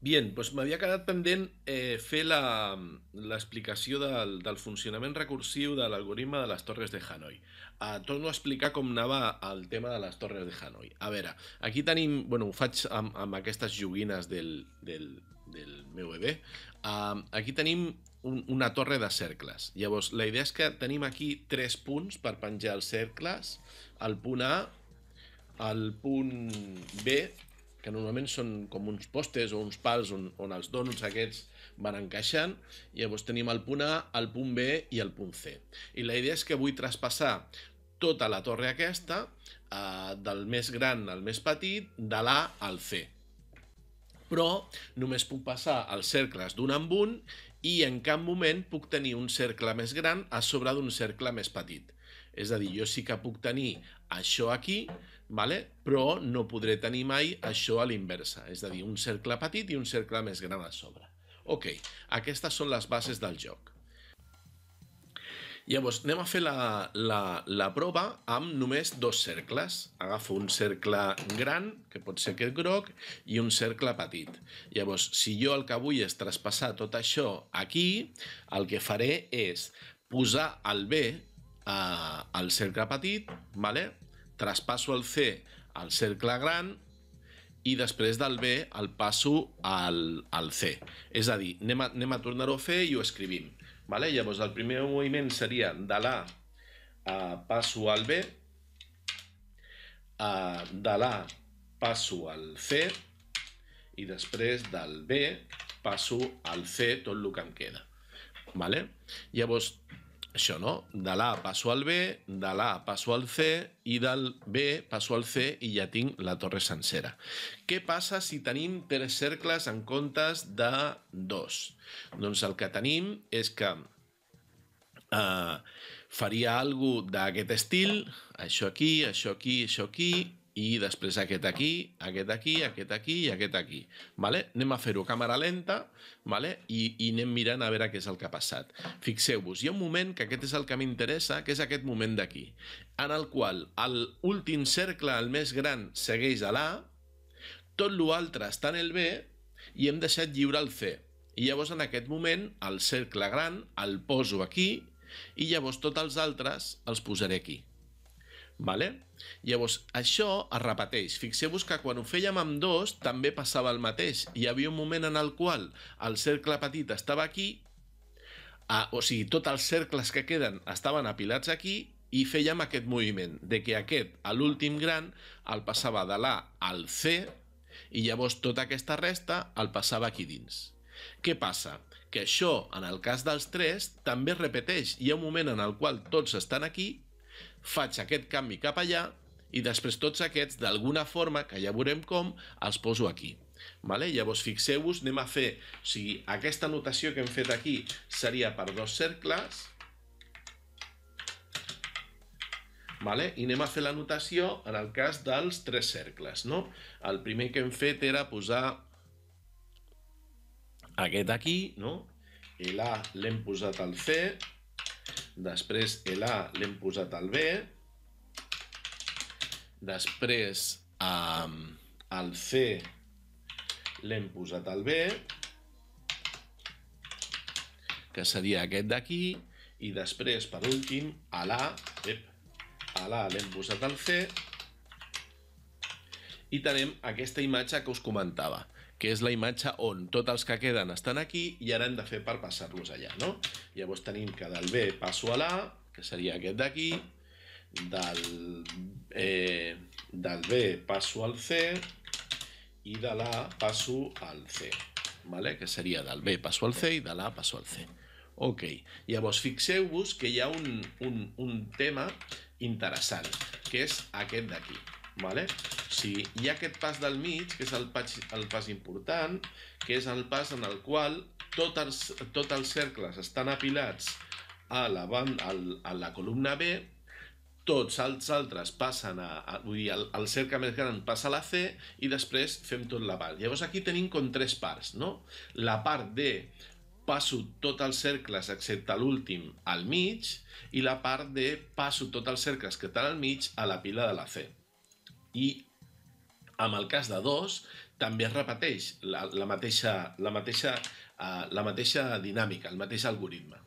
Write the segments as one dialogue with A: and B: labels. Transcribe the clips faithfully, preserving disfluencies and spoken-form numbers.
A: Bien, doncs m'havia quedat pendent eh, fer la- l'explicació del, del funcionament recursiu de l'algoritme de les torres de Hanoi. Uh, torno a explicar com anava el tema de les torres de Hanoi. A veure, aquí tenim, bueno, ho faig amb, amb aquestes joguines del, del, del meu bebè. Uh, aquí tenim un, una torre de cercles. Llavors, la idea és que tenim aquí tres punts per penjar els cercles. El punt A, el punt B, que normalment són com uns postes o uns pals on, on els dònuts aquests van encaixant, i llavors tenim el punt A, el punt B i el punt C. I la idea és que vull traspassar tota la torre aquesta, eh, del més gran al més petit, de l'A al C. Però només puc passar els cercles d'un en un i en cap moment puc tenir un cercle més gran a sobre d'un cercle més petit. És a dir, jo sí que puc tenir això aquí, vale? Però no podré tenir mai això a l'inversa, és a dir, un cercle petit i un cercle més gran a sobre. Ok, aquestes són les bases del joc. Llavors, anem a fer la, la, la prova amb només dos cercles. Agafo un cercle gran, que pot ser aquest groc, i un cercle petit. Llavors, si jo el que vull és traspassar tot això aquí, el que faré és posar el B eh, al cercle petit, vale? Traspasso el C al cercle gran, i després del B el passo al, al C. És a dir, anem a, anem a tornar-ho a fer i ho escrivim. Vale? Llavors, el primer moviment seria de l'A uh, passo al B, uh, de l'A passo al C, i després del B passo al C tot el que em queda. Vale? Llavors, això, no? De l'A passo al B, de l'A passo al C, i del B passo al C i ja tinc la torre sencera. Què passa si tenim tres cercles en comptes de dos? Doncs el que tenim és que eh, faria alguna cosa d'aquest estil, això aquí, això aquí, això aquí, i després aquest aquí, aquest aquí, aquest aquí i aquest aquí. Vale? Anem a fer-ho a càmera lenta, vale? I, i anem mirant a veure què és el que ha passat. Fixeu-vos, hi ha un moment que aquest és el que m'interessa, que és aquest moment d'aquí, en el qual l'últim cercle, el més gran, segueix a l'A, tot l'altre està en el B i hem deixat lliure el C. I llavors en aquest moment el cercle gran el poso aquí i llavors tots els altres els posaré aquí. Vale? Llavors, això es repeteix. Fixeu-vos que quan ho fèiem amb dos també passava el mateix. Hi havia un moment en el qual el cercle petit estava aquí, ah, o sigui, tots els cercles que queden estaven apilats aquí, i fèiem aquest moviment, de que aquest, a l'últim gran, el passava de l'A al C, i llavors tota aquesta resta el passava aquí dins. Què passa? Que això, en el cas dels tres, també es repeteix. Hi ha un moment en el qual tots estan aquí, faig aquest canvi cap allà i després tots aquests, d'alguna forma, que ja veurem com, els poso aquí. Vale? Llavors, fixeu-vos, anem a fer... O sigui, aquesta notació que hem fet aquí seria per dos cercles, vale? I anem a fer la notació en el cas dels tres cercles, no? El primer que hem fet era posar aquest aquí, no? L'A l'hem posat al C, després l'A l'hem posat al B, després eh, el C l'hem posat al B, que seria aquest d'aquí, i després, per últim, a l'A, a l'A l'hem posat al C, i tenim aquesta imatge que us comentava, que és la imatge on tots els que queden estan aquí i ara hem de fer per passar-los allà, no? Llavors tenim que del B passo a l'A, que seria aquest d'aquí, del, eh, del B passo al C i de l'A passo al C, vale? Que seria del B passo al C i de l'A passo al C. Ok, llavors fixeu-vos que hi ha un, un, un tema interessant, que és aquest d'aquí. Vale? O sigui, hi ha aquest pas del mig, que és el pas, el pas important, que és el pas en el qual tots els, tots els cercles estan apilats a la, banda, a la columna B, tots els altres passen a, a vull dir, el, el cercle més gran passa a la C i després fem tot la part. Llavors aquí tenim com tres parts, no? La part de passo tots els cercles excepte l'últim al mig i la part de passo tots els cercles que estan al mig a la pila de la C. I amb el cas de dos també es repeteix la, la, mateixa, la, mateixa, uh, la mateixa dinàmica, el mateix algoritme.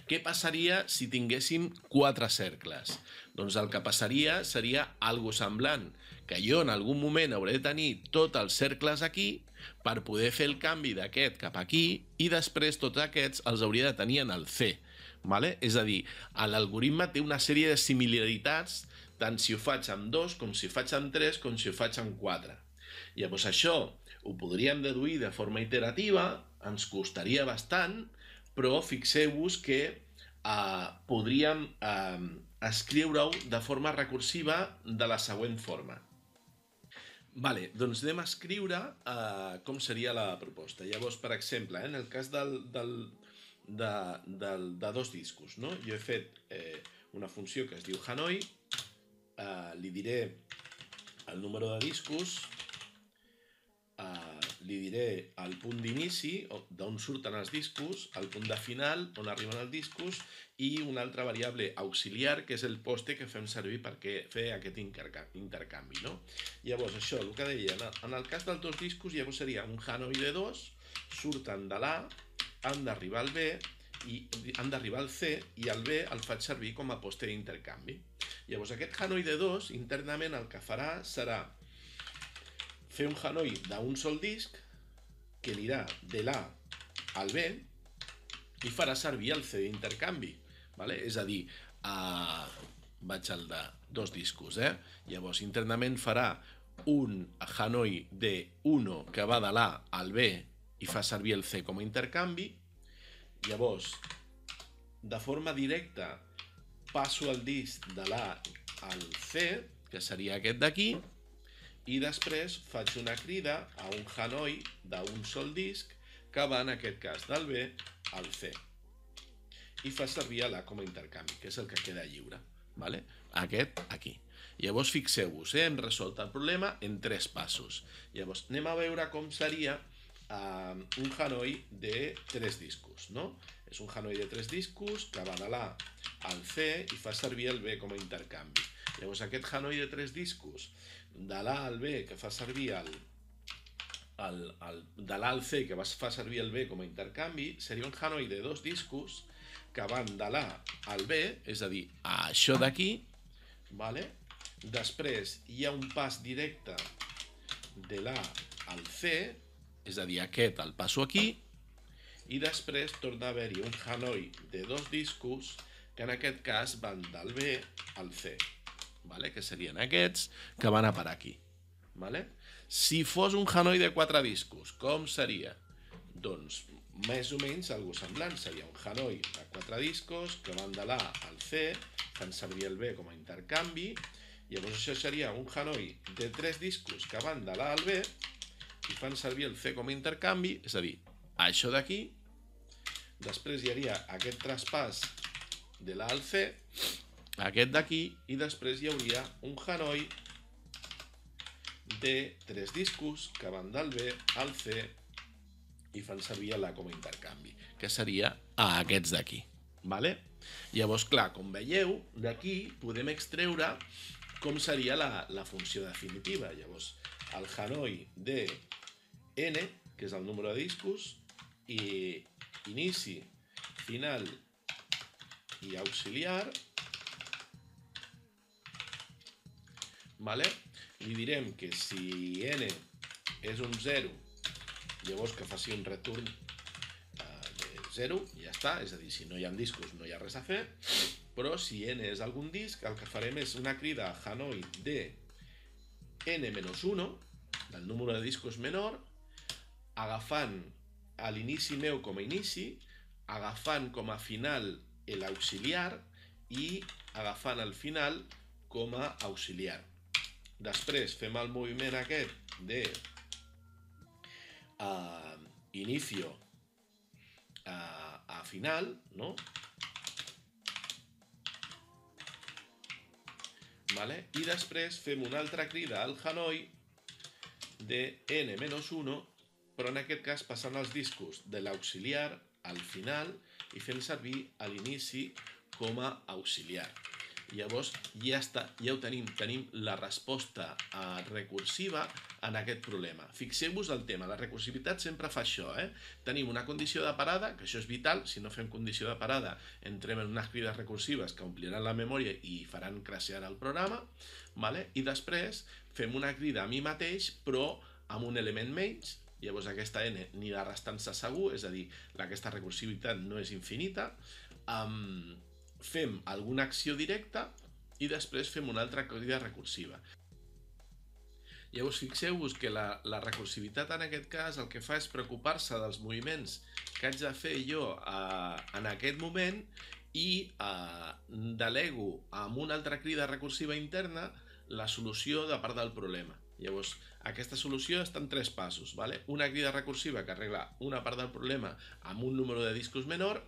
A: Què passaria si tinguéssim quatre cercles? Doncs el que passaria seria algo semblant, que jo en algun moment hauré de tenir tots els cercles aquí per poder fer el canvi d'aquest cap aquí i després tots aquests els hauria de tenir en el C. Vale? És a dir, l'algoritme té una sèrie de similaritats tant si ho faig amb dos, com si ho faig amb tres, com si ho faig amb quatre. Llavors això ho podríem deduir de forma iterativa, ens costaria bastant, però fixeu-vos que eh, podríem eh, escriure-ho de forma recursiva de la següent forma. Vale, doncs anem a escriure eh, com seria la proposta. Llavors, per exemple, eh, en el cas del, del, de, del, de dos discos, no? Jo he fet eh, una funció que es diu Hanoi, eh, li diré el número de discos, Uh, li diré el punt d'inici, d'on surten els discos, el punt de final, on arriben els discos, i una altra variable auxiliar, que és el poste que fem servir per fer aquest intercanvi. No? Llavors, això, el que deia, en el cas dels dos discos, llavors seria un Hanoi de dos, surten de l'A, han d'arribar al B, i han d'arribar al C, i el B el faig servir com a poste d'intercanvi. Llavors, aquest Hanoi de dos, internament el que farà serà fer un Hanoi d'un sol disc que anirà de l'A al B i farà servir el C d'intercanvi. Vale? És a dir, uh, vaig al de dos discos. Eh? Llavors, internament farà un Hanoi de un que va de l'A al B i fa servir el C com a intercanvi. Llavors, de forma directa, passo el disc de l'A al C, que seria aquest d'aquí, i després faig una crida a un Hanoi d'un sol disc que va en aquest cas del B al C i fa servir l'A com a intercanvi, que és el que queda lliure. Vale? Aquest aquí. Llavors fixeu-vos, eh? hem resolt el problema en tres passos. Llavors anem a veure com seria uh, un Hanoi de tres discos. No? És un Hanoi de tres discos que va de l'A al C i fa servir el B com a intercanvi. Llavors aquest Hanoi de tres discos de l'A al B que fa servir el, el, el de l'A al C que fa servir el B com a intercanvi seria un Hanoi de dos discos que van de l'A al B, és a dir, a això d'aquí, vale? Després hi ha un pas directe de l'A al C, és a dir, aquest el passo aquí, i després torna a haver-hi un Hanoi de dos discos que en aquest cas van del B al C. Vale? Que serien aquests que van a parar aquí. Vale? Si fos un Hanoi de quatre discos, com seria? Doncs més o menys algo semblant. Seria un Hanoi de quatre discos que van de l'A al C, fan servir el B com a intercanvi. Llavors això seria un Hanoi de tres discos que van de l'A al B i fan servir el C com a intercanvi, és a dir, això d'aquí. Després hi hauria aquest traspàs de l'A al C, aquest d'aquí, i després hi hauria un Hanoi de tres discos que van del B al C i fan servir l'A com a intercanvi, que seria a aquests d'aquí. Vale? Llavors, clar, com veieu, d'aquí podem extreure com seria la, la funció definitiva. Llavors, el Hanoi de N, que és el número de discos, i inici, final i auxiliar, vale? Li direm que si n és un zero, llavors que faci un return de zero, i ja està, és a dir, si no hi ha discos no hi ha res a fer, però si n és algun disc, el que farem és una crida a Hanoi de n menys un, del número de discos menor, agafant a l'inici meu com a inici, agafant com a final l'auxiliar i agafant el final com a auxiliar. Després fem el moviment aquest de uh, inicio uh, a final, no? Vale? I després fem una altra crida al Hanoi de n menys un, però en aquest cas passant els discos de l'auxiliar al final i fent servir a l'inici com a auxiliar. Llavors ja està, ja ho tenim, tenim la resposta eh, recursiva en aquest problema. Fixeu-vos el tema, la recursivitat sempre fa això, eh? Tenim una condició de parada, que això és vital, si no fem condició de parada entrem en unes crides recursives que ompliran la memòria i faran crashear el programa, vale? I després fem una crida a mi mateix, però amb un element menys. Llavors aquesta n anirà restant-se segur, és a dir, aquesta recursivitat no és infinita. Um, fem alguna acció directa i després fem una altra crida recursiva. Llavors fixeu-vos que la, la recursivitat en aquest cas el que fa és preocupar-se dels moviments que haig de fer jo eh, en aquest moment i eh, delego amb una altra crida recursiva interna la solució de part del problema. Llavors, aquesta solució està en tres passos, ¿vale? Una crida recursiva que arregla una part del problema amb un número de discos menor,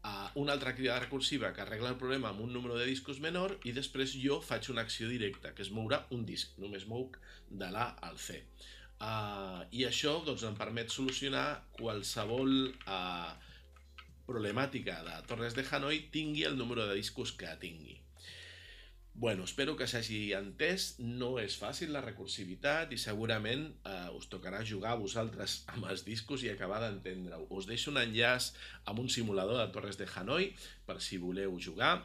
A: uh, una altra crida recursiva que arregla el problema amb un número de discos menor i després jo faig una acció directa, que és moure un disc, només mouc de l'A al C. Uh, I això doncs, em permet solucionar qualsevol uh, problemàtica de Torres de Hanoi tingui el número de discos que tingui. Bueno, espero que s'hagi entès, no és fàcil la recursivitat i segurament eh, us tocarà jugar a vosaltres amb els discos i acabar d'entendre-ho. Us deixo un enllaç amb un simulador de Torres de Hanoi per si voleu jugar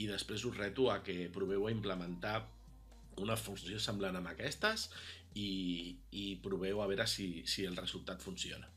A: i després us reto a que proveu a implementar una funció semblant amb aquestes i, i proveu a veure si, si el resultat funciona.